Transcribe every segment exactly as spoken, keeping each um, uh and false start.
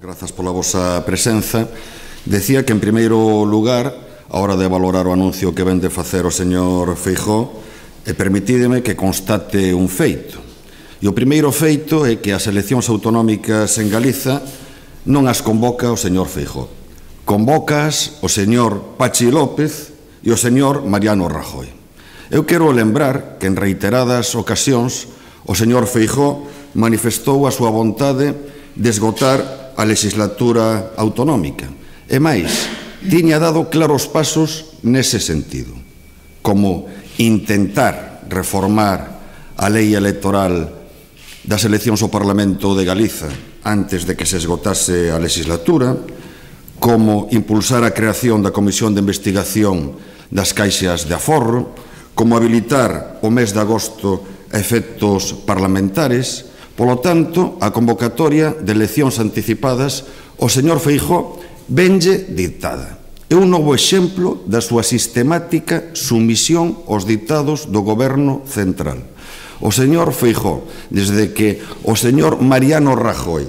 Grazas pola vosa presenza. Decía que, en primeiro lugar, a hora de valorar o anuncio que ven de facer o señor Feijóo, e permitídeme que constate un feito. E o primeiro feito é que as eleccións autonómicas en Galiza non as convoca o señor Feijóo. Convocas o señor Pachi López e o señor Mariano Rajoy. Eu quero lembrar que en reiteradas ocasións o señor Feijóo manifestou a súa vontade de esgotar a legislatura autonómica. E máis, tiña dado claros pasos nese sentido, como intentar reformar a lei electoral das eleccións ao Parlamento de Galiza antes de que se esgotase a legislatura, como impulsar a creación da Comisión de Investigación das caixas de aforro, como habilitar o mes de agosto a efectos parlamentares. Polo tanto, a convocatoria de eleccións anticipadas o señor Feijóo venlle dictada. É un novo exemplo da súa sistemática sumisión aos ditados do goberno central. O señor Feijóo, desde que o señor Mariano Rajoy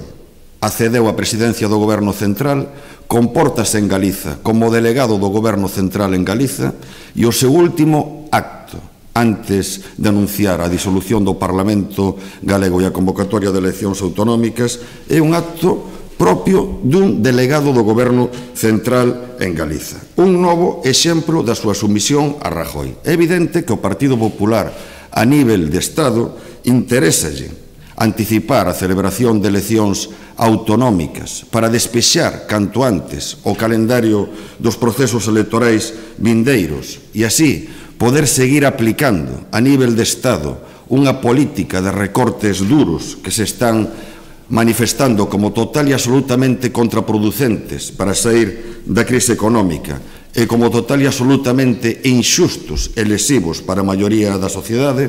accedeu á presidencia do goberno central, compórtase en Galiza como delegado do goberno central en Galiza, e o seu último acto antes de anunciar a disolución do Parlamento galego e a convocatoria de eleccións autonómicas é un acto propio dun delegado do goberno central en Galiza. Un novo exemplo da súa sumisión a Rajoy. É evidente que o Partido Popular a nivel de Estado interésalle anticipar a celebración de eleccións autonómicas para despexar canto antes o calendario dos procesos electorais vindeiros e así poder seguir aplicando a nivel de Estado unha política de recortes duros que se están manifestando como total e absolutamente contraproducentes para sair da crise económica e como total e absolutamente inxustos e lesivos para a maioría da sociedade.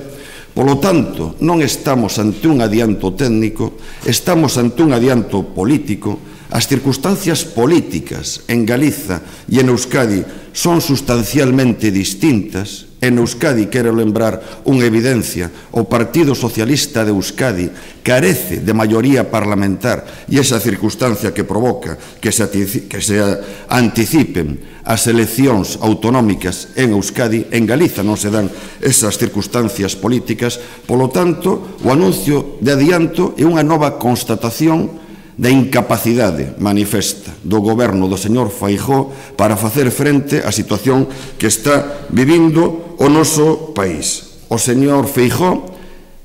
Polo tanto, non estamos ante un adianto técnico, estamos ante un adianto político. As circunstancias políticas en Galiza e en Euskadi son sustancialmente distintas. En Euskadi, quero lembrar unha evidencia, o Partido Socialista de Euskadi carece de maioría parlamentar e esa circunstancia que provoca que se, que se anticipen as eleccións autonómicas en Euskadi. En Galiza non se dan esas circunstancias políticas. Polo tanto, o anuncio de adianto é unha nova constatación da incapacidade manifesta do goberno do señor Feijóo para facer frente á situación que está vivindo o noso país. O señor Feijóo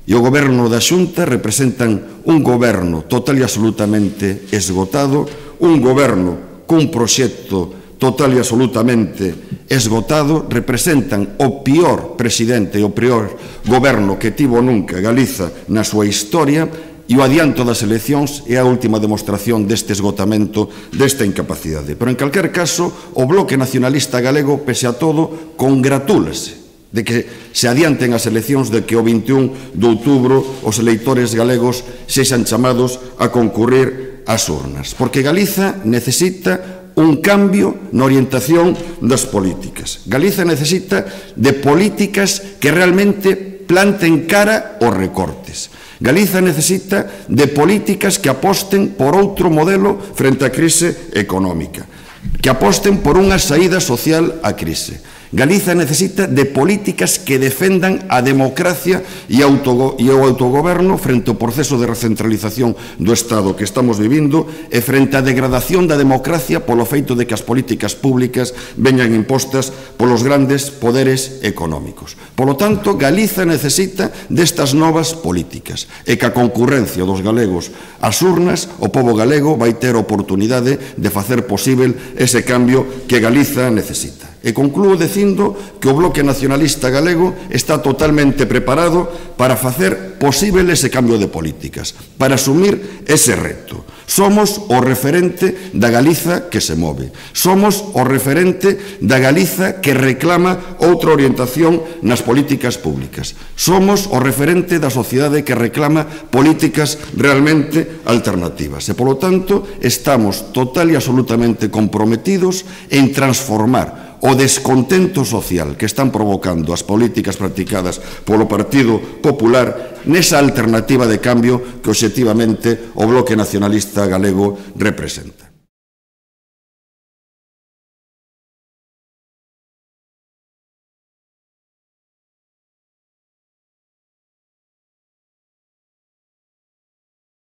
e o goberno da Xunta representan un goberno total e absolutamente esgotado, un goberno cun proxecto total e absolutamente esgotado, representan o pior presidente e o pior goberno que tivo nunca Galiza na súa historia. E o adianto das eleccións é a última demostración deste esgotamento, desta incapacidade. Pero, en calquer caso, o Bloque Nacionalista Galego, pese a todo, congratúlase de que se adianten as eleccións, de que o vinte e un de outubro os eleitores galegos sexan chamados a concurrir ás urnas. Porque Galiza necesita un cambio na orientación das políticas. Galiza necesita de políticas que realmente planten cara aos recortes. Galiza necesita de políticas que aposten por outro modelo frente á crise económica, que aposten por unha saída social á crise. Galiza necesita de políticas que defendan a democracia e o autogoberno frente ao proceso de recentralización do Estado que estamos vivindo e frente á degradación da democracia polo feito de que as políticas públicas veñan impostas polos grandes poderes económicos. Polo tanto, Galiza necesita destas novas políticas e que a concurrencia dos galegos ás urnas, o pobo galego vai ter a oportunidade de facer posible ese cambio que Galiza necesita. E conclúo dicindo que o Bloque Nacionalista Galego está totalmente preparado para facer posible ese cambio de políticas, para asumir ese reto. Somos o referente da Galiza que se move. Somos o referente da Galiza que reclama outra orientación nas políticas públicas. Somos o referente da sociedade que reclama políticas realmente alternativas. E, polo tanto, estamos total e absolutamente comprometidos en transformar o descontento social que están provocando as políticas practicadas polo Partido Popular nesa alternativa de cambio que obxectivamente o Bloque Nacionalista Galego representa.